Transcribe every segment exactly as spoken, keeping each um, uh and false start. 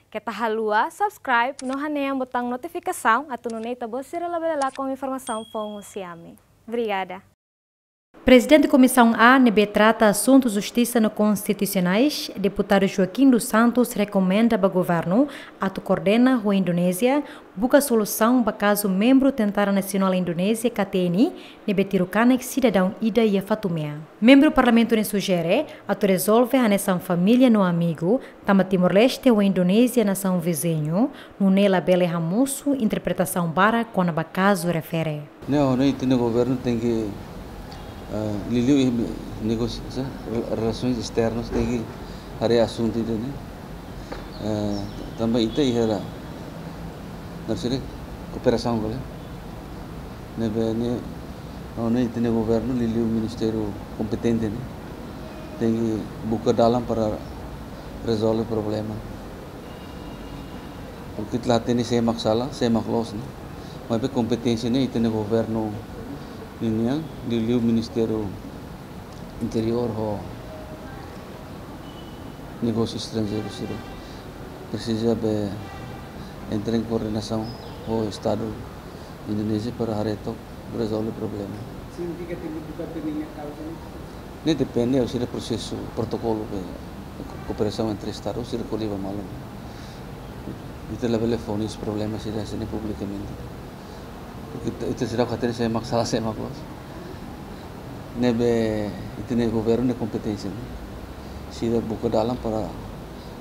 Keta haluha subscribe no hanehan butaun notifikasaun atu nune'e ita-boot sira labele lakon informasaun foun husi ami. Obrigada. Prezidente Komisaun A ne'ebé trata asuntu justisa no konstitusionais, Deputadu Joaquim dos Santos, rekomenda ba governu atu koordena ho Indonézia buka solusaun ba kazu membru Tentara Nasionál Indonézia, K T N I, ne'ebé tiru kanek sidadaun ida iha Fatumea. Membru Parlamentu ne'e sujere atu rezolve hanesan família no amigu, tanba Timor-Leste ho Indonézia nasaun viziñu, nune'e labele hamosu interpretasaun barak kona-ba kazu refere. Ne'e, ne'e ita-nia governu tenke, eh, liuliu iha negósiu, sa, rel-, relasoens esternas tenke haree asuntu ida-ne'e. Eh, tanba ita iha ra, narsire, kooperasaun kole. Ne'ebé ne'e, ne'e ita-nia governu liuliu ministériu kompetente ne'e tenke buka dalan para rezolve problema. Porke ita la hatene sé mak sala, sé mak loos ne'e. Maibé kompeténsia ne'e ita-nia governu ninian, liuliu Ministériu Interiór ho Negósiu Estranjeiru sira presiza be entra em koordenasaun ho Estadu Indonézia para haree tok rezolve problema. Signifika tenke buka tiha nia kauza ne'e? Ne'e depende, sira prosesu protokolu be kooperasaun entre Estadu, sira ko'alia ba malu. Ita labele fó nia problema sira hanesan ne'e publikamente. Ita, ita seidauk hatene sé mak sala, sé mak loos. Ne'ebé ita-nia governu nia kompeténsia ne'e. Sira buka dalan para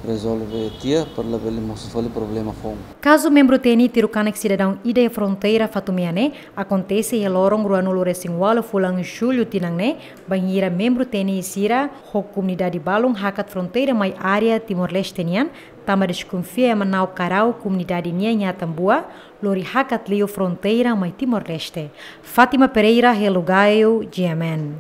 rezolve tiha, para labele mosu fali problema foun. Kazu membru T N I tiru kanek sidadaun ida iha fronteira Fatumea ne'e akontese iha loron ruanulu resin ualu fulan Jullu tinan ne'e, bainhira membru T N I sira ho komunidade balun hakat fronteira mai área Timor-Leste nian, tanba deskonfia ema na'ok karau komunidade nian iha Atambua, lori hakat liu fronteira mai Timor-Leste. Fátima Pereira, Hello Gaio, G M N.